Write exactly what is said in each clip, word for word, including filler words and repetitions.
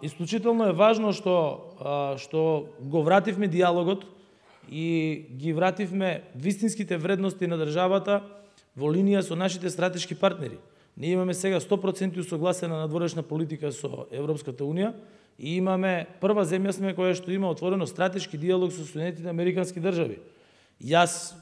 исклучително е важно што а, што го вративме диалогот и ги вративме вистинските вредности на државата во линија со нашите стратешки партнери. Ние имаме сега сто проценти усогласена надворешна политика со Европската Унија и имаме прва земја сме која што има отворено стратешки диалог со Соединетите Американски држави. Јас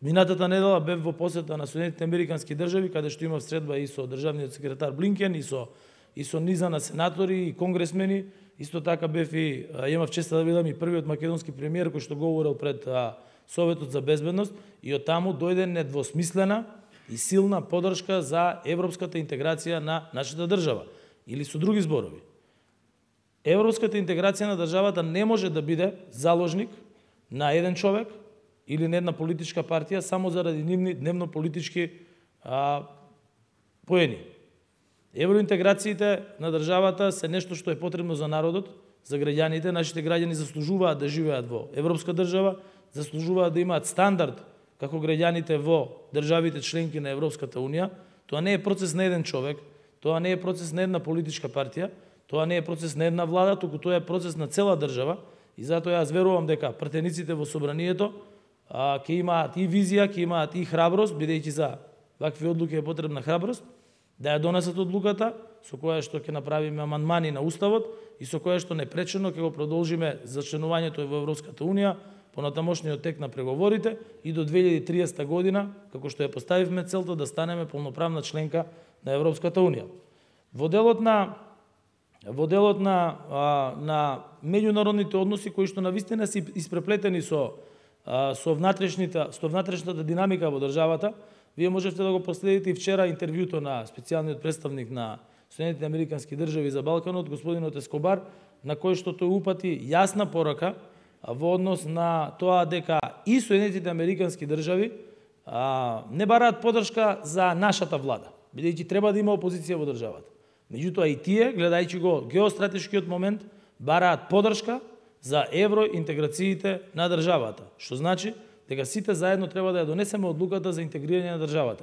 минатата недела бев во посета на Соединетите Американски држави, каде што имав средба и со државниот секретар Блинкен, и со и со низа на сенатори и конгресмени. Исто така бев и имав честа да видам и првиот македонски премиер кој што говорил пред а, Советот за безбедност, и од таму дојде недвосмислена и силна поддршка за европската интеграција на нашата држава. Или со други зборови, европската интеграција на државата не може да биде заложник на еден човек или на една политичка партија само заради нивни дневно политички а, поени. Евроинтеграциите на државата се нешто што е потребно за народот, за граѓаните. Нашите граѓани заслужуваат да живеат во европска држава, заслужуваат да имаат стандард како граѓаните во државите членки на Европската Унија. Тоа не е процес на еден човек, тоа не е процес на една политичка партија, тоа не е процес на една влада, туку тоа е процес на цела држава. И затоа јас верувам дека пратениците во собранието а, ќе имаат и визија, ќе имаат и храброст, бидејќи за вакви одлуки е потребна храброст, да ја донесат одлуката со која што ќе направиме амандмани на Уставот и со која што непречено ќе го продолжиме за членувањето во Европската Унија по натамошниот тек на преговорите и до две илјади и триесета година, како што ја поставивме целта да станеме полноправна членка на Европската Унија. Во делот на во делот на а, на меѓународните односи кои што навистина се испреплетени со а, со внатрешната со внатрешната динамика во државата, вие можете да го проследите и вчера интервјуто на специјалниот представник на Соединетите Американски држави за Балканот, господинот Ескобар, на кој што тој упати јасна порака во однос на тоа дека и Соединетите Американски држави а, не бараат поддршка за нашата влада, бидејќи треба да има опозиција во државата. Меѓутоа и тие, гледајќи го геостратешкиот момент, бараат поддршка за евроинтеграциите на државата, што значи дека сите заедно треба да ја донесеме одлуката за интегрирање на државата.